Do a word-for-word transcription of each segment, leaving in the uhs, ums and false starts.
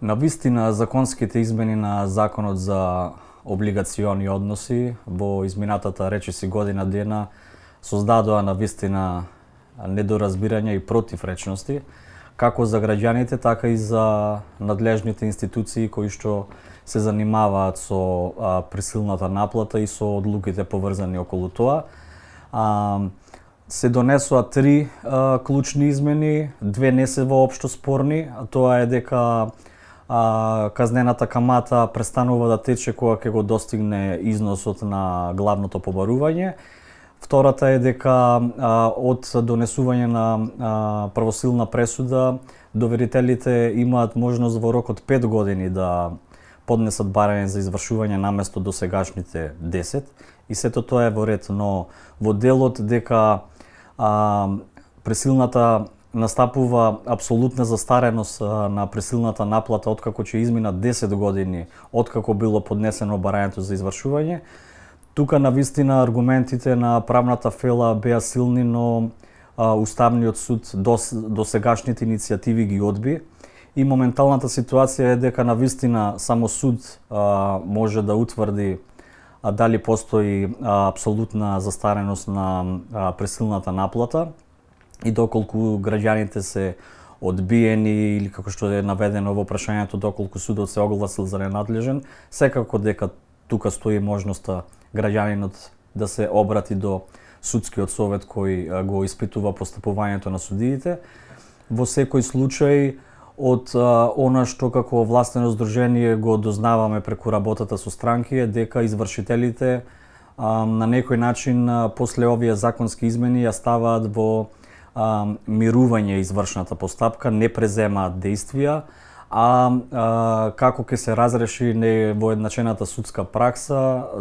На вистина, законските измени на Законот за облигациони односи во изминатата речиси година дена создадоа на вистина недоразбирање и противречности, како за граѓаните, така и за надлежните институции кои што се занимаваат со а, присилната наплата и со одлуките поврзани околу тоа. А, се донесоа три а, клучни измени, две не се воопшто спорни, а тоа е дека а, казнената камата престанува да тече кога ќе го достигне износот на главното побарување. Втората е дека а, од донесување на а, правосилна пресуда, доверителите имаат можност во рок од пет години да поднесат барање за извршување наместо досегашните десет. И сето тоа е во ред, но во делот дека а, присилната настапува апсолутна застареност а, на присилната наплата откако ќе изминат десет години откако било поднесено барањето за извршување. Тука на вистина аргументите на правната фела беа силни, но а, Уставниот суд дос, досегашните иницијативи ги одби. И моменталната ситуација е дека на вистина само суд а, може да утврди а, дали постои а, апсолутна застареност на а, присилната наплата и доколку граѓаните се одбиени или како што е наведено во прашањето доколку судот се огласил за ненадлежен, секако дека тука стои можноста граѓанинот да се обрати до судскиот совет кој го испитува постапувањето на судиите. Во секој случај, од а, она што како властено здружение го дознаваме преку работата со странки е дека извршителите а, на некој начин а, после овие законски измени ја ставаат во а, мирување извршната постапка, не преземаат действија, а, а како ќе се разреши невоедначената судска пракса,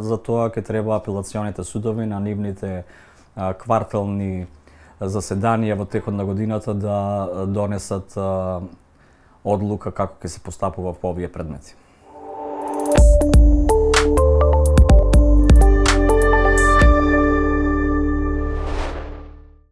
за тоа ќе треба апелационите судови на нивните а, квартални заседанија во текот на годината да донесат а, одлука како ќе се постапува по овие предмети.